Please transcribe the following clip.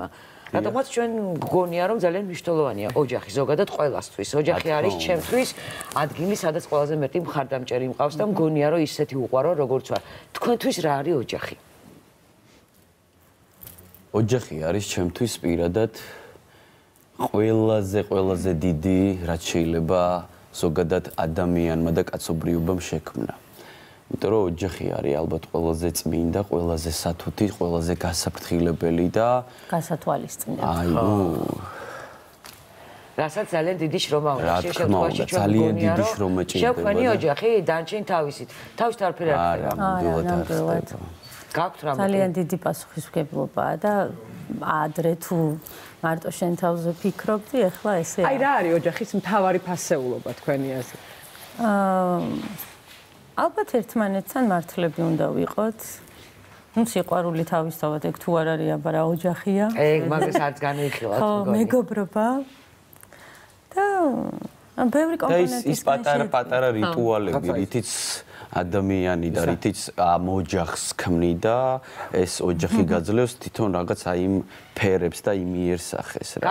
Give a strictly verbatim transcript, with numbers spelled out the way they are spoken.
თემა. რადგანაც ჩვენ გგონია რომ ძალიან მნიშვნელოვანია ოჯახი ზოგადად ყველასთვის. ოჯახი არის ჩემთვის ადგილი, სადაც ყველაზე მეტი მხარდამჭერი მყავს და მგონია რომ ისეთი უყვარო როგორც ვარ. თქვენთვის რა არის ოჯახი? ოჯახი არის ჩემთვის პირადად ყველაზე ყველაზე დიდი რაც შეიძლება ზოგადად ადამიანმა და კაცობრიობამ შექმნა. იმიტომ რომ ოჯახი არის ალბათ ყველაზე წმინდა, ყველაზე სათუთი, ყველაზე გასაფრთხილებელი და გასათვალისწინებელი. აი ნუ რასაც ძალიან დიდი შრომა უნდა შეშეთქვაში ჩვენ ძალიან დიდი შრომა ჭირდება. შექმნი ოჯახი დანჩენ თავისით. თავის თარფი რა არა, ნამდვილად. გაქვთ რამე? ძალიან დიდი პასუხისმგებლობაა და ადრე თუ მარტო შენ თავზე ფიქრობდი, ეხლა ესე აი რა არის ოჯახის მთავარი ფასეულობა თქვენი აზრით? აა ალბათ ერთმანეთთან მართლები უნდა ვიყოთ. ნუ სიყვარული თავისთავად ეგ თუ არ არის, აბა რა ოჯახია. ეგ მაგას არც განვიხილავთ. ხო, მეგობრობა. და ბევრი კომპონენტის ის პატარა პატარა რიტუალები, რითიც ადამიანი და რითიც ამ ოჯახს ქმნიდა, ეს ოჯახი გაძლევს თვითონ რაღაც აი იმ ფერებს და იმ იერსახეს რა.